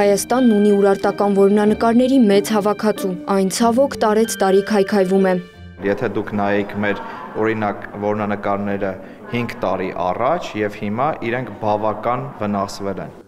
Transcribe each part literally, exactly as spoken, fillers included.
Հայաստանն ունի ուրարտական որմնանկարների մեծ հավաքածու, այն ցավոք տարեց տարի քայքայվում է։ Եթե դուք նայեք մեր օրինակ որմնանկարները հինգ տարի առաջ եւ հիմա իրենք բավական վնասվել են։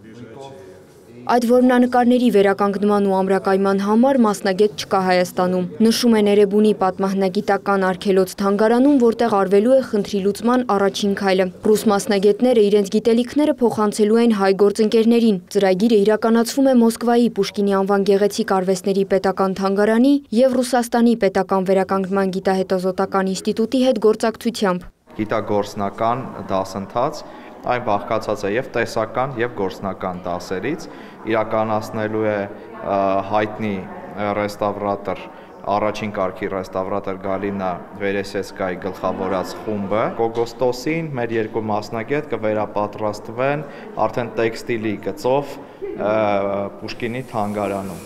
Այդ որմնանկարների վերականգնման ու ամրակայման համար մասնագետ չկա Հայաստանում։ Նշում են Էրեբունի պատմահնագիտական արգելոց թանգարանում, որտեղ արվելու է խնդրի լուծման առաջին քայլը։ Ռուս մասնագետները իրենց գիտելիքները փոխանցելու են հայ գործընկերներին։ Ծրագիրը իրականացվում է Մոսկվայի Պուշկինի անվան գեղեցիկ արվեստների պետական թանգարանի եւ Ռուսաստանի պետական վերականգնման գիտահետազոտական ինստիտուտի հետ գործակցությամբ։ Գիտագործնական դասընթաց այն բաղկացած է եւ տեսական եւ գործնական դասերից, իրականացնելու է հայտնի ռեստավրատոր, առաջին կարգի ռեստավրատոր Գալինա Վերեսեցկայի գլխավորած խումբը։ Օգոստոսին մեր երկու մասնագետ կվերապատրաստվեն արդեն տեքստիլի գծով Պուշկինի թանգարանում։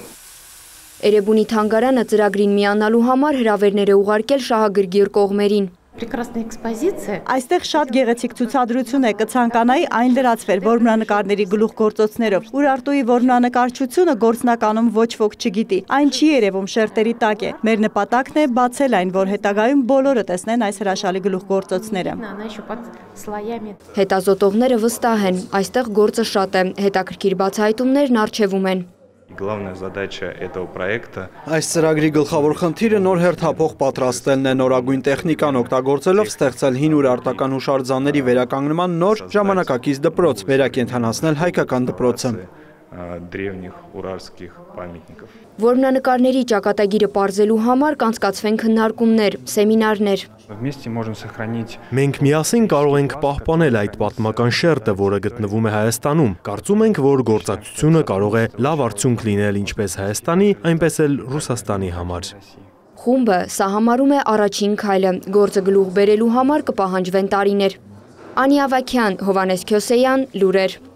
Էրեբունի թանգարանը ծրագրին միանալու համար հրավերներ է ուղարկել շահագրգիռ կողմերին։ Այստեղ շատ գեղեցիկ ցուցադրություն է, կցանկանայի այն լրացվեր որմնանկարների գլուխգործոցներով։ Ուրարտուի որմնանկարչությունը գործնականում ոչ ոք չգիտի, այն չի երևում շերտերի տակ է։ Մեր նպատակն է բացել այն, որ հետագայում բոլորը տեսնեն այս հրաշալի գլուխգործոցները։ Հետազոտողները վստահ են, այստեղ գործը շատ է, հետաքրքիր բացահայտումներն առջևում են։ Главная задача этого проекта Այս ծրագրի գլխավոր խնդիրը նոր հերթափող պատրաստելն է, նորագույն տեխնիկան օգտագործելով ստեղծել հին ուրարտական հուշարձանների վերականգնման նոր ժամանակակից դպրոց, վերակենդանացնել հայկական դպրոցը։ древних уральских памятников։ Որմնանկարների ճակատագիրը պարզելու համար կանցկացվեն քննարկումներ, սեմինարներ։ Вместе можем сохранить Մենք միասին կարող ենք պահպանել այդ պատմական շերտը, որը գտնվում է Հայաստանում։ Կարծում ենք, որ գործակցությունը կարող է լավ արդյունք լինել ինչպես Հայաստանի, այնպես էլ Ռուսաստանի համար։ Խումբը սա համարում է առաջին քայլը, գործը գլուխ բերելու համար կպահանջվեն տարիներ։ Անի Ավագյան, Հովանես Քյոսեյան, լուրեր։